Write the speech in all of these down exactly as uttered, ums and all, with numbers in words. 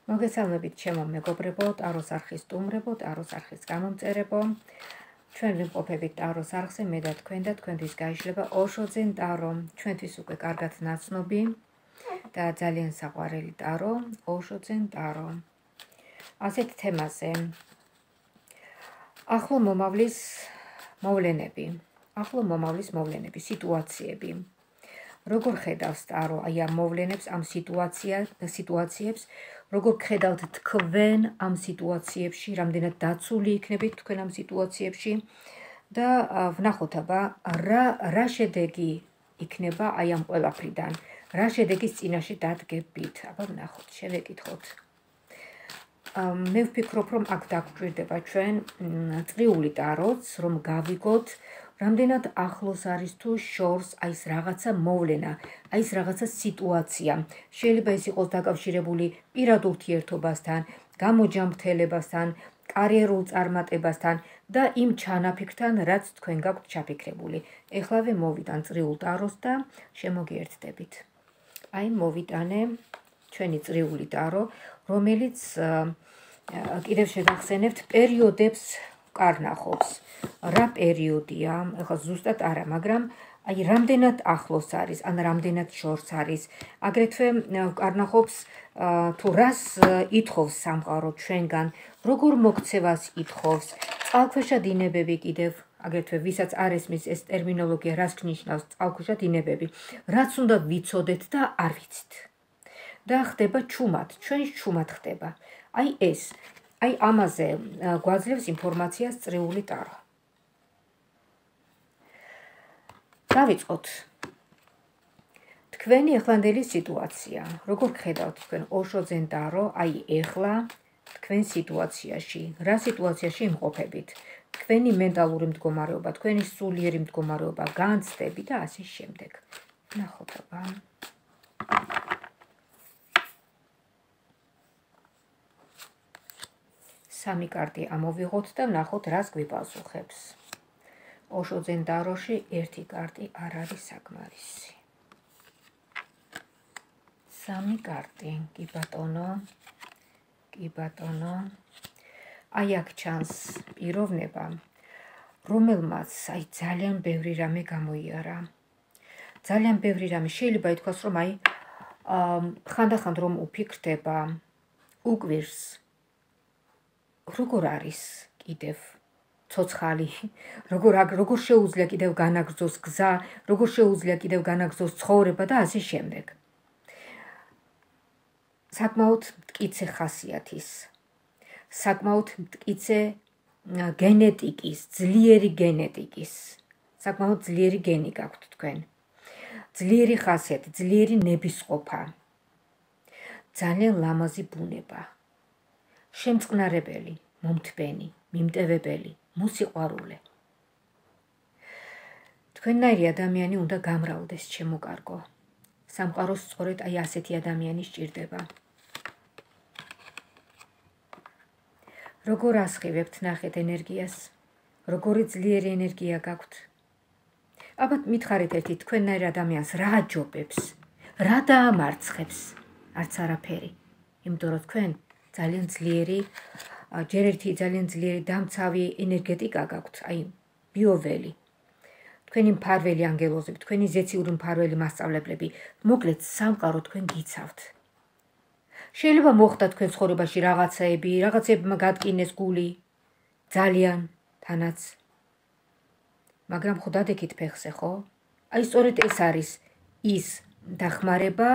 მოგესალმებით ჩემო მეგობრებო, ტაროს არხის სტუმრებო, ტაროს არხის გამომწერებო. ჩვენ ვიმყოფებით ტაროს არხზე, მე და თქვენ და თქვენთვის გაიშლება ოშოძენ ტარო, ჩვენთვის უკვე კარგად ნაცნობი და ძალიან საყვარელი ტარო, ოშოძენ ტარო. ასეთ თემაზე. ახლო მომავლის მოვლენები, ახლო მომავლის მოვლენები, სიტუაციები. როგორ ხედავს ტარო აი ამ მოვლენებს, ამ სიტუაციებს, როგორ ხედავთ თქვენ ამ სიტუაციებში, რამდენად დაცული იქნებით თქვენ ამ სიტუაციებში და ვნახოთ აბა რა რა შედეგი იქნება აი ამ ყველაფრიდან, რა შედეგის წინაშე დადგებით. აბა ვნახოთ, შევეკითხოთ. მე ვფიქრობ, რომ აქ დაგვჭირდება ჩვენ წრიული ტაროც, რომ გავიგოთ რამდენად ახლოს არის თუ შორს აი ეს რაღაცა მოვლენა, აი ეს რაღაცა სიტუაცია. შეიძლება ეს იყოს დაკავშირებული პირად ურთიერთობასთან, გამოჯამრთელებასთან, კარიერულ წარმატებასთან და იმ ჩანაფიქრთან, რაც თქვენ გაქვთ ჩაფიქრებული. ეხლავე მოვიტან წრიულ ტაროს და შემოგიერთდებით. აი მოვიტანე ჩვენი წრიული ტარო, რომელიც კიდევ შეგახსენებთ პერიოდებს კარნახობს. რა პერიოდია, ეხლა ზუსტად არა, მაგრამ აი რამდენად ახლოს არის, ან რამდენად შორს არის. აგრეთვე კარნახობს თუ რას ითხოვს სამყარო ჩვენგან, როგორ მოქცევას ითხოვს, წყალქვეშა დინებები კიდევ, აგრეთვე ვისაც არ ესმის ეს ტერმინოლოგია, რას ნიშნავს წყალქვეშა დინებები, რაც უნდა ვიცოდეთ და არ ვიცით. და ხდება ჩუმად, ჩვენს ჩუმად ხდება. აი ეს, აი ამაზე გვაძლევს ინფორმაციას წრიული ტარო. დავიწყოთ. თქვენი ახლანდელი სიტუაცია, როგორ ხედავთ თქვენ ოშოძენ ტარო, აი ეხლა თქვენ სიტუაციაში, რა სიტუაციაში იმყოფებით, თქვენი მენტალური მდგომარეობა, თქვენი სულიერი მდგომარეობა, განცდები და ასე შემდეგ. ნახოთ აბა. სამი კარტი ამოვიღოთ და ვნახოთ რას გვიპასუხებს. ოშოძენ ტაროში ერთი კარტი არ არის საკმარისი. სამი კარტი, კი ბატონო, კი ბატონო. აი აქ ჩანს პიროვნება, რომელმაც აი ძალიან ბევრი რამე გამოიარა. ძალიან ბევრი რამე, შეიძლება ითქვას, რომ აი ხანდახან რომ უფიქრდება, უკვირს. როგორ არის კიდევ ცოცხალი, როგორ როგორ შეუძლია კიდევ განაგრძოს გზა, როგორ შეუძლია კიდევ განაგრძოს ცხოვრება და ასე შემდეგ. საკმაოდ მტკიცე ხასიათის, საკმაოდ მტკიცე გენეტიკის, ძლიერი გენეტიკის, საკმაოდ ძლიერი გენი გაქვთ თქვენ. ძლიერი ხასიათი, ძლიერი ნებისყოფა. ძალიან ლამაზი ბუნება. შემწყნარებელი, მომთბენი, მიმტევებელი, მოსიყვარულე. თქვენნაირი ადამიანი უნდა გამრავლდეს, ჩემო კარგო. სამყაროს სწორედ აი ასეთი ადამიანი სჭირდება. როგორ ასხივებთ ნახეთ ენერგიას, როგორი ძლიერი ენერგია გაქვთ. აბა მითხარით ერთი თქვენნაირ ადამიანს რა აჯობებს, რა დაამარცხებს, არც არაფერი. იმიტომ რომ თქვენ ძალიან ძლიერი, ჯერ ერთი ძალიან ძლიერი დამცავი ენერგეტიკა გაქვთ, აი ბიოველი. თქვენი მფარველი ანგელოზები, თქვენი ზეციური მფარველი მასწავლებლები, მოკლედ სამყარო თქვენ გიცავთ. შეიძლება მოხდა თქვენ ცხოვრებაში რაღაცაები, რაღაცებმა გადკინეს გული, ძალიან თანაც. მაგრამ ხო დადექით ფეხზე, ხო? აი სწორედ ეს არის ის დახმარება,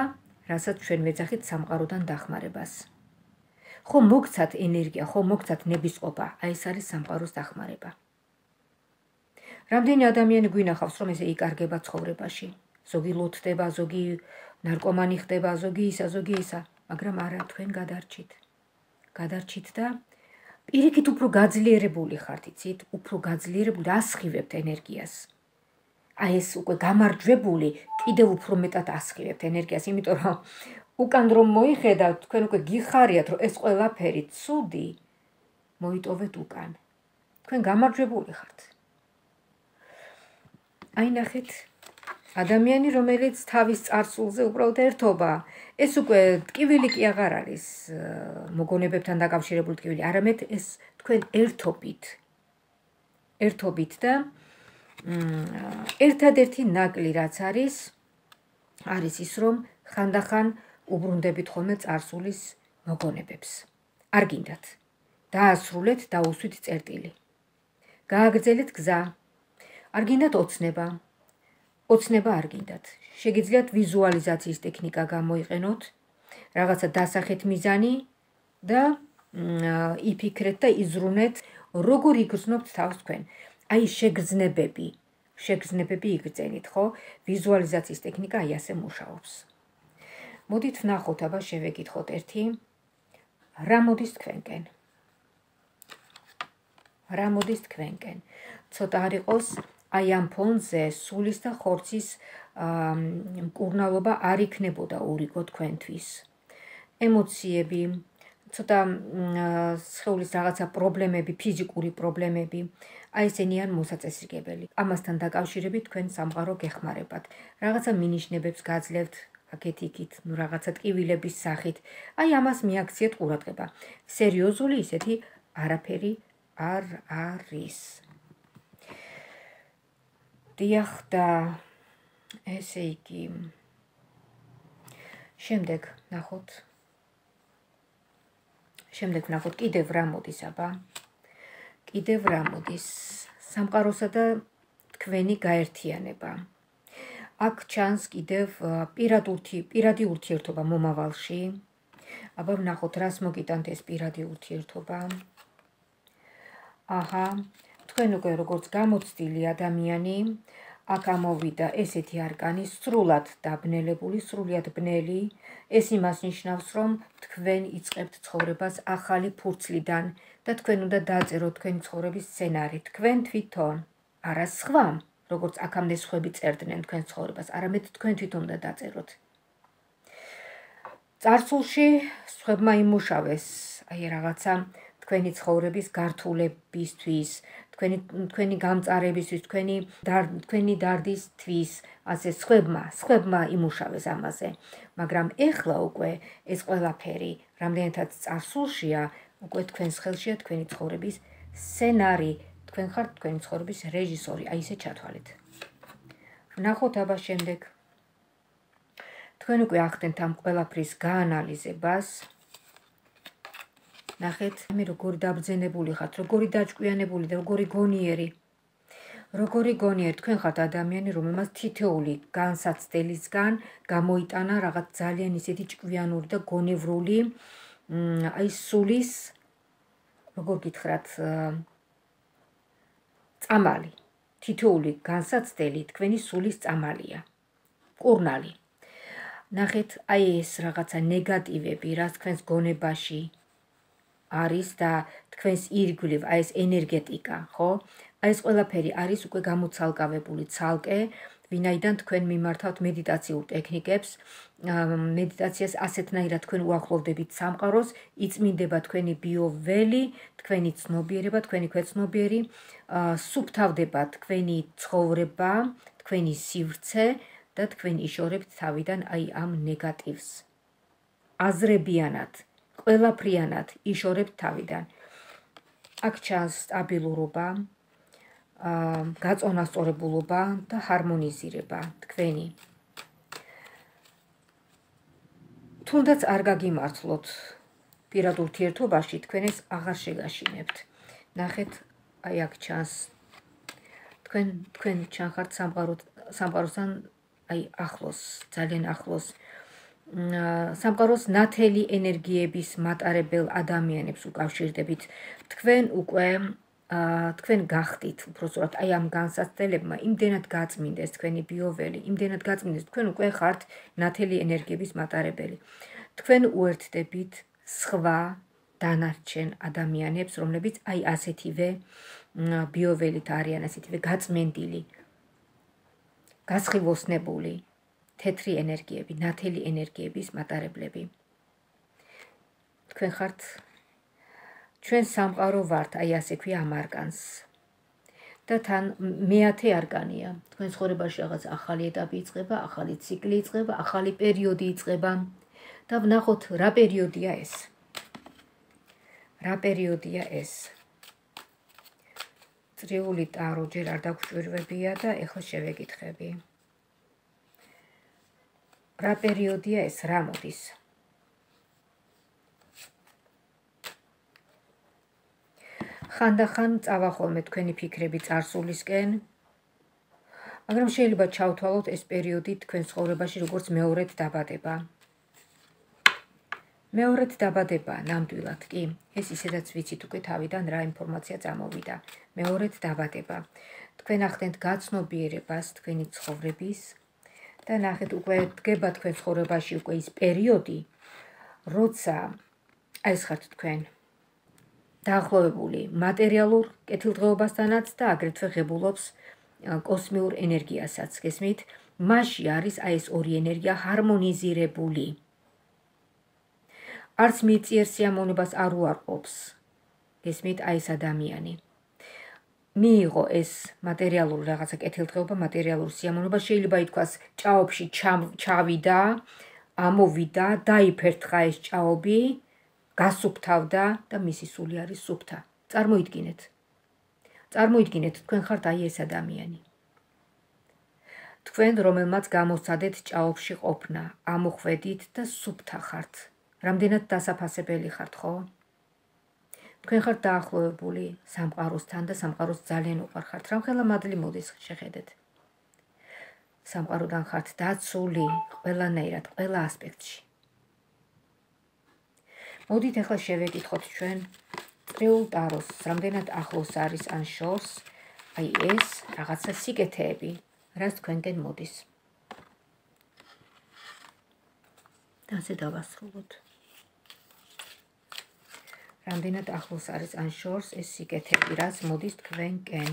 რასაც ჩვენ ვეძახით სამყაროდან დახმარებას. ხო მოგცათ ენერგია, ხო მოგცათ ნებისყოფა, აი ეს არის სამყაროს დახმარება. რამდენი ადამიანი გვინახავს, რომ ესე იკარგება ცხოვრებაში. ზოგი ლოთდება, ზოგი ნარკომანი ხდება, ზოგი ისა, ზოგი ისა, მაგრამ არა, თქვენ გადარჩით. გადარჩით და პირიქით უფრო გაძლიერებული ხართ, იცით, უფრო გაძლიერებული, ასხივებთ ენერგიას. აი ეს უკვე გამარჯვებული, კიდევ უფრო მეტად ასხივებთ ენერგიას, იმიტომ რომ უკან რომ მოიხედავთ, თქვენ უკვე გიხარიათ, რომ ეს ყველაფერი ცუდი, მოიტოვეთ უკან. თქვენ გამარჯვებული ხართ. აი ნახეთ, ადამიანი, რომელიც თავის წარსულზე უბრალოდ ერთობა. ეს უკვე ტკივილი კი აღარ არის მოგონებებთან დაკავშირებული ტკივილი, არამედ ეს თქვენ ერთობით. ერთობით და ერთადერთი ნაკლი რაც არის, არის ის, რომ ხანდახან უბრუნდებით ხოლმე წარსულის მოგონებებს. არ გინდათ. დაასრულეთ, დაუსვით წერტილი. გააგრძელეთ გზა. არ გინდათ ოცნება. ოცნება არ გინდათ. შეგიძლიათ ვიზუალიზაციის ტექნიკა გამოიყენოთ, რაღაცა დასახეთ მიზანი და იფიქრეთ და იზრუნეთ, როგორ იგრძნობთ თავს თქვენ. აი შეგრძნებები, შეგრძნებები იგრძენით, ხო? ვიზუალიზაციის ტექნიკა აი ასე მუშაობს. მოდით ვნახოთ, აბა შევეკითხოთ ერთი. რა მოდის თქვენკენ? რა მოდის თქვენკენ? ცოტა არ იყოს აი ამ ფონზე სულის და ხორცის მკურნალობა არ იქნებოდა ურიგო თქვენთვის. ემოციები, ცოტა სხეულის რაღაცა პრობლემები, ფიზიკური პრობლემები, აი ესენი არ მოსაწესრიგებელი. ამასთან დაკავშირებით თქვენ სამყარო გეხმარებათ. რაღაცა მინიშნებებს გაძლევთ აქეთ-იქით, ნუ რაღაცა ტკივილების სახით. აი ამას მიაქციეთ ყურადღება. სერიოზული ისეთი არაფერი არ არის. დიახ და ესე იგი. შემდეგ ნახოთ. შემდეგ ნახოთ კიდევ რა მოდის, აბა. კიდევ რა მოდის. სამყაროსა და თქვენი გაერთიანება. აქ ჩანს კიდევ პირადი ურთიერთობა მომავალში. აბა ვნახოთ, რას მოგიტანთ ეს პირადი ურთიერთობა. აჰა, თქვენ უკვე როგორც გამოცდილი ადამიანი, აქ ამოვიდა ესეთი არკანი, სრულად დაბნელებული, სრულიად ბნელი. ეს იმას ნიშნავს, რომ თქვენ იწყებთ ცხოვრებას ახალი ფურცლიდან და თქვენ უნდა დაწეროთ თქვენი ცხოვრების სცენარი. თქვენ თვითონ, არა სხვამ, როგორც აქამდე სხვები წერდნენ თქვენ ცხოვრებას, არამედ თქვენ თვითონ უნდა დაწეროთ. წარსულში სხვებმა იმუშავეს, აი რაღაცა თქვენი ცხოვრების გართულებისთვის, თქვენი თქვენი გამწარებისთვის, თქვენი თქვენი დარდისთვის, ასე სხვებმა, სხვებმა იმუშავეს ამაზე. მაგრამ ეხლა უკვე ეს ყველაფერი, რამდენადაც წარსულშია, უკვე თქვენს ხელშია თქვენი ცხოვრების სცენარი, თქვენ ხართ თქვენი ცხოვრების რეჟისორი, აი ესე ჩათვალეთ. ვნახოთ აბა შემდეგ. თქვენ უკვე ახდენთ ამ ყველაფრის გაანალიზებას. ნახეთ, მე როგორი დაბრძენებული ხართ, როგორი დაჭკვიანებული და როგორი გონიერი. როგორი გონიერი, თქვენ ხართ ადამიანი, რომელმაც თითოეული განსაცდელისგან გამოიტანა რაღაც ძალიან ისეთი ჭკვიანური და გონევრული, აი სულის, როგორ გითხრათ, წამალი. თითოეული განსაცდელი თქვენი სულის წამალია. მკურნალი. ნახეთ, აი ეს რაღაცა ნეგატივები, რაც თქვენს გონებაში არის და თქვენს ირგვლივ, აი ეს ენერგეტიკა, ხო? აი ეს ყველაფერი არის უკვე გამოცალკავებული ცალკე, ვინაიდან თქვენ მიმართავთ მედიტაციურ ტექნიკებს, მედიტაციას ასეთნაირად თქვენ უახლოვდებით სამყაროს, იწმინდება თქვენი ბიოველი, თქვენი ცნობიერება, თქვენი ქვეცნობიერი, სუფთავდება თქვენი ცხოვრება, თქვენი სივრცე და თქვენ იშორებთ თავიდან აი ამ ნეგატივს. აზრებიანად, ყველაფრიანად იშორებთ თავიდან. აქ ჩანს სტაბილურობა, გაწონასწორებულობა და ჰარმონიზირება თქვენი. თუნდაც არ გაგიმართლოთ პირად ურთიერთობაში, თქვენ ეს აღარ შეგაშინებთ. ნახეთ, აი აქ ჩანს თქვენ თქვენ ჩანხართ სამყაროსთან აი ახლოს, ძალიან ახლოს. სამყაროს ნათელი ენერგიების მატარებელ ადამიანებს უკავშირდებით. თქვენ უკვე თქვენ გახდით, უბრალოდ აი ამ განსაცდელებმა იმდენად გაწმინდეს თქვენი ბიოველი, იმდენად გაწმინდეს, თქვენ უკვე ხართ ნათელი ენერგიების მატარებელი. თქვენ უერთდებით სხვა დანარჩენ ადამიანებს, რომლებიც აი ასეთივე ბიოველით არიან, ასეთივე გაწმენდილი, გასხივოსნებული, თეთრი ენერგიები, ნათელი ენერგიების მატარებლები. თქვენ ხართ ჩვენ სამყარო ვართ, აი ასე ქვია ამ არკანს. და თან მეათე არკანია. თქვენ ცხოვრებაში რაღაც ახალი ეტაპი იწყება, ახალი ციკლი იწყება, ახალი პერიოდი იწყება და ვნახოთ რა პერიოდია ეს. რა პერიოდია ეს. წრიული ტარო ჯერ არ დაგვრჩვირვებია და ეხლა შევეკითხები. რა პერიოდია ეს, რა მოდის? ხანდახან წავა ხოლმე თქვენი ფიქრები წარსულისკენ, მაგრამ შეიძლება ჩავთვალოთ ეს პერიოდი თქვენ ცხოვრებაში როგორც მეორედ დაბადება. მეორედ დაბადება, ნამდვილად კი, ეს ისედაც ვიცით უკვე თავიდან რა ინფორმაცია წამოვიდა. მეორედ დაბადება. თქვენ ახდენთ გაცნობიერებას თქვენი ცხოვრების და ნახეთ უკვე დგება თქვენ ცხოვრებაში უკვე ის პერიოდი, როცა ეს ხართ თქვენ დაახლოებული მატერიალურ კეთილდღეობასთანაც და აგრეთვე ღებულობს კოსმიურ ენერგიასაც. გესმით? მასში არის აი ეს ორი ენერგია ჰარმონიზირებული. არც მიწიერ სიამოვნებას არ უარყოფს. გესმით? აი ეს ადამიანი. მიიღო ეს მატერიალური რაღაცა კეთილდღეობა, მატერიალური სიამოვნება, შეიძლება ითქვას ჭაობში ჩავიდა, ამოვიდა, დაიფერთხა ეს ჭაობი, გასუფთავდა და მისი სული არის სუფთა. წარმოიდგინეთ. წარმოიდგინეთ, თქვენ ხართ აი ეს ადამიანი. თქვენ, რომელმაც გამოსცადეთ ჭაობში ყოფნა, ამოხვედით და სუფთა ხართ. რამდენად დასაფასებელი ხართ, ხო? თქვენ ხართ დაახლოებული სამყაროსთან და სამყაროს ძალიან უყვარხართ. რამხელა მადლი მოდის შეხედეთ. სამყაროდან ხართ დაცული ყველანაირად, ყველა ასპექტში. მოდით ახლა შევეკითხოთ ჩვენ წრეულ ტაროს, რამდენად ახლოს არის ან შორს, აი ეს რაღაცა სიკეთეები, რაც თქვენკენ მოდის. და ასე დავასრულოთ. რამდენად ახლოს არის ან შორს ეს სიკეთეები, რაც მოდის თქვენკენ.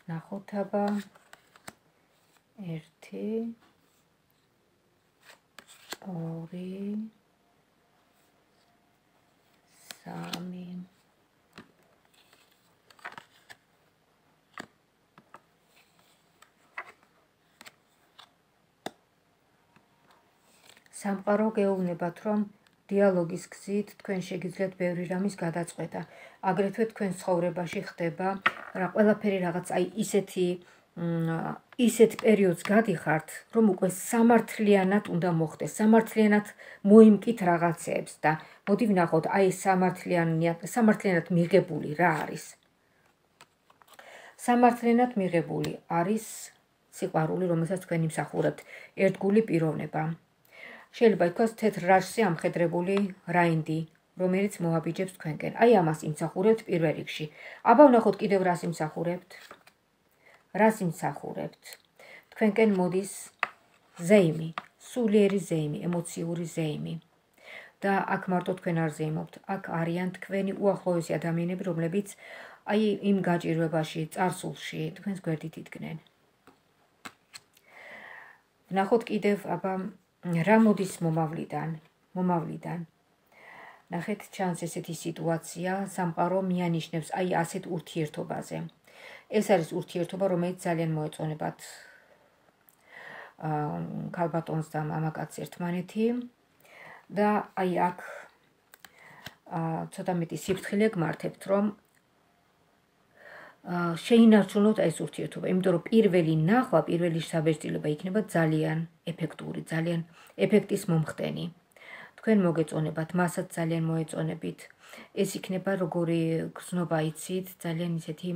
ნახოთ აბა ერთი ორი სამი სამყარო გეუბნებათ, რომ დიალოგის გზით თქვენ შეგიძლიათ ბევრი რამის გადაწყვეტა. აგრეთვე თქვენ ცხოვრებაში ხდება რა ყველაფერი რაღაც აი ისეთი ისეთ პერიოდს გადიხართ, რომ უკვე სამართლიანად უნდა მოხდეს, სამართლიანად მოიმკით რაღაცებს და მოდი ვნახოთ აი სამართლიანად სამართლიანად მიღებული რა არის. სამართლიანად მიღებული არის სიყვარული, რომელსაც თქვენ იმსახურებთ, ერთგული პიროვნება. შეიძლება ითქვას თეთრ რაშზე ამხედრებული რაინდი, რომელიც მოაბიჯებს თქვენკენ. აი ამას იმსახურებთ პირველ რიგში. აბა ვნახოთ კიდევ რას იმსახურებთ. რას იმსახურებთ. თქვენკენ მოდის ზეიმი, სულიერი ზეიმი, ემოციური ზეიმი. და აქ მარტო თქვენ არ ზეიმობთ, აქ არიან თქვენი უახლოესი ადამიანები, რომლებიც აი იმ გაჭირვებაში, წარსულში თქვენს გვერდით იდგნენ. ვნახოთ კიდევ აბა რა მოდის მომავლიდან, მომავლიდან. ნახეთ, ჩანს ესეთი სიტუაცია, სამყარო მიანიშნებს აი ასეთ ურთიერთობაზე. ეს არის ურთიერთობა, რომელიც ძალიან მოეწონებათ ქალბატონს და მამაკაცს ერთმანეთი და აი აქ ცოტა მეტი სიფრთხილე გმართებთ, რომ შეინარჩუნოთ ეს ურთიერთობა, იმიტომ რომ პირველი ნახვა, პირველი საბეჭდილება იქნება ძალიან ეფექტური, ძალიან ეფექტის მომხდენი. თქვენ მოგეწონებათ, მასაც ძალიან მოეწონებით. ეს იქნება როგორი გრძნობა იცით, ძალიან ისეთი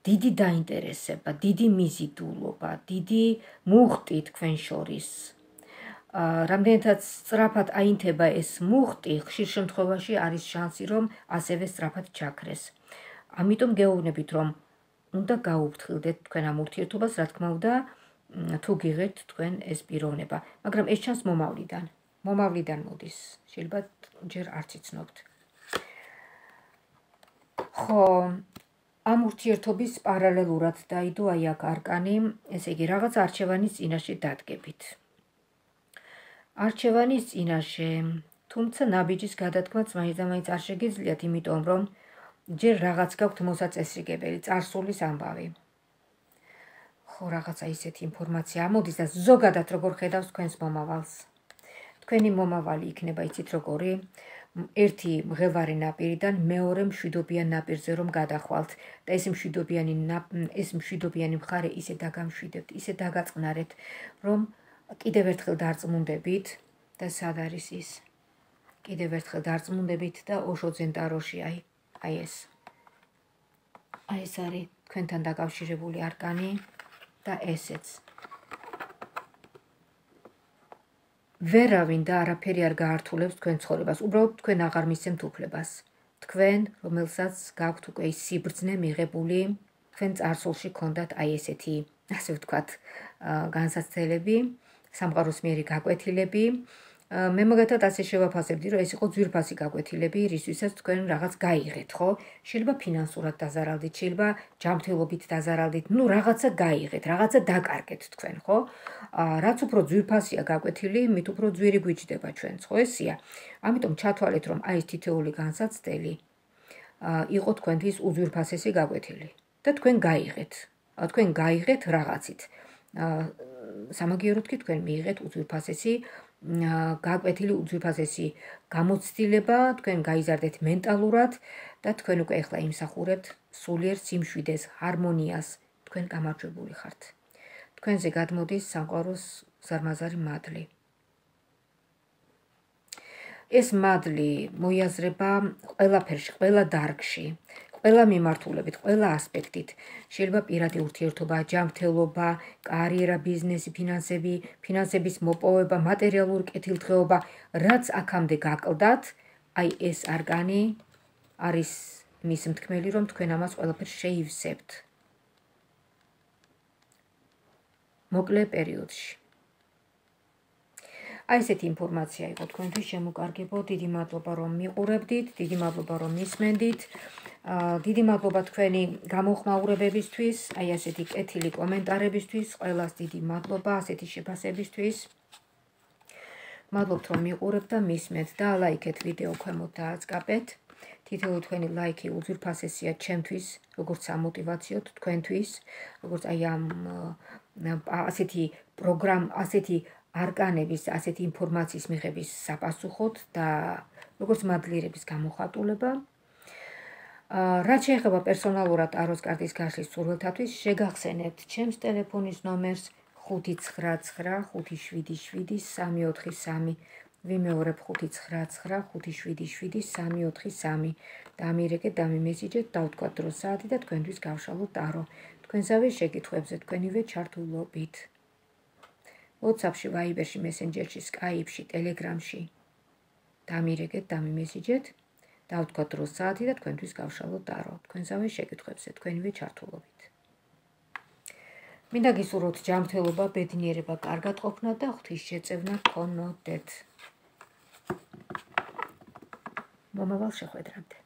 დიდი დაინტერესება, დიდი მიზიდულობა, დიდი მუხტი თქვენ შორის. რამდენადაც სწრაფად აინთება ეს მუხტი, ხშირ შემთხვევაში არის შანსი, რომ ასევე სწრაფად ჩაქრეს. ამიტომ გეუბნებით, რომ უნდა გაუფრთხილდეთ თქვენ ამ ურთიერთობას, რა თქმა უნდა, თუ გიღებთ თქვენ ეს პიროვნება, მაგრამ ეს ჩანს მომავლიდან. მომავლიდან მოდის, შეიძლება ჯერ არც იცნობთ. ხო, ამ ურთიერთობის პარალელურად დაიდო აი აქ არკანი, ესე იგი რაღაც არჩევანის წინაშე დადგებით. არჩევანის წინაშე, თუმცა ნაბიჯის გადათქმაც მაინც არ შეგიძლიათ, იმიტომ რომ ჯერ რაღაც გაქვთ მოსაწესრიგებელი, წარსულის ამბავი. ხო, რაღაცა ისეთი ინფორმაცია ამოდის და ზოგადად როგორ ხედავს თქვენს მომავალს. თქვენი მომავალი იქნება, იცით როგორი? ერთი მღელვარე ნაპირიდან მეორე მშვიდობიან ნაპირზე რომ გადახვალთ და ეს მშვიდობიანი ეს მშვიდობიანი მხარე ისე დაგამშვიდებთ, ისე დაგაწყნარეთ, რომ კიდევ ერთხელ დარწმუნდებით და სად არის ის? კიდევ ერთხელ დარწმუნდებით და ოშოძენ ტაროში აი, აი ეს. აი ეს არის თქვენთან დაკავშირებული არკანი და ესეც. ვერავინ და არაფერი არ გაართულებს თქვენ ცხოვრებას, უბრალოდ თქვენ აღარ მისცემთ უფლებას. თქვენ, რომელსაც გაქვთ უკვე ის სიბრძნე მიღებული, თქვენ წარსულში გქონდათ აი ესეთი, ასე ვთქვათ, განსაცდელები, სამყაროს მიერი გაკვეთილები. მე მაგათად ასე შევაფასებდი, რომ ეს იყო ძვირფასი გაკვეთილები, რისთვისაც თქვენ რაღაც გაიღეთ, ხო? შეიძლება ფინანსურად დაზარალდით, შეიძლება ჯანმრთელობით დაზარალდით, ნუ რაღაცა გაიღეთ, რაღაცა დაკარგეთ თქვენ, ხო? რაც უფრო ძვირფასია გაკვეთილი, მით უფრო ძვირი გვიჯდება ჩვენც, ხო ესია? ამიტომ ჩათვალეთ, რომ აი ეს თითოეული განსაცდელი იყო თქვენთვის უძვირფასესი გაკვეთილი და თქვენ გაიღეთ. თქვენ გაიღეთ რაღაცით. სამაგიეროდ კი თქვენ მიიღეთ უძვირფასესი გაკვეთილი, უძვირფასესი გამოცდილება, თქვენ გაიზარდეთ მენტალურად და თქვენ უკვე ახლა იმსახურებთ სულიერ სიმშვიდეს, ჰარმონიას, თქვენ გამარჯვებული ხართ. თქვენზე გადმოდის სამყაროს ზარმაზარი მადლი. ეს მადლი მოიაზრება ყველაფერში, ყველა დარგში, ყველა მიმართულებით, ყველა ასპექტით. შეიძლება პირადი ურთიერთობა, ჯანმრთელობა, კარიერა, ბიზნესი, ფინანსები, ფინანსების მოპოვება, მატერიალური კეთილდღეობა, რაც აქამდე გაკლდათ, აი ეს არკანი არის მის მთქმელი, რომ თქვენ ამას ყველაფერს შეივსებთ. მოკლე პერიოდში. აი ესეთი ინფორმაცია იყო თქვენთვის შემოკარგებო. დიდი მადლობა რომ მიყურებდით, დიდი მადლობა რომ მისმენდით. დიდი მადლობა თქვენი გამოხმაურებებისთვის, აი ასეთი კეთილი კომენტარებისთვის, ყველას დიდი მადლობა ასეთი შეფასებისთვის. მადლობთ რომ მიყურებთ და მისმენთ და ლაიქეთ ვიდეო ქვემოთ და აწკაპეთ. თითოეული თქვენი ლაიქი უძვირფასესია ჩემთვის, როგორც სამოტივაციოდ თქვენთვის, როგორც აი ამ ასეთი პროგრამ, ასეთი არკანების, ასეთი ინფორმაციის მიღების საპასუხოდ და როგორც მადლიერების გამოხატულება. რაც შეეხება პერსონალურად ტაროს კარტის გაშლის სურვილთათვის, შეგახსენებთ ჩემს ტელეფონის ნომერს ხუთი ცხრა ცხრა ხუთი შვიდი შვიდი სამი ოთხი სამი. ვიმეორებ ხუთი ცხრა ცხრა ხუთი შვიდი შვიდი სამი ოთხი სამი. დამირეკეთ, დამიმესიჯეთ, დავთქვათ დრო საათი და თქვენთვის გავშალოთ ტარო. თქვენსავე შეკითხვებზე თქვენივე ჩართულობით. WhatsApp-ში, Viber-ში, Messenger-ში, Skype-ში, Telegram-ში დამირეკეთ, დამიმესიჯეთ, დავთქვათ დრო საათი და თქვენთვის გავშალოთ ტარო. თქვენსავე შეკითხვებზე თქვენივე ჩართულობით. მინდა გისურვოთ ჯანმრთელობა, ბედნიერება, კარგად ყოფნა და ღვთისშეწევნა გქონოდეთ. მომავალ შეხვედრამდე.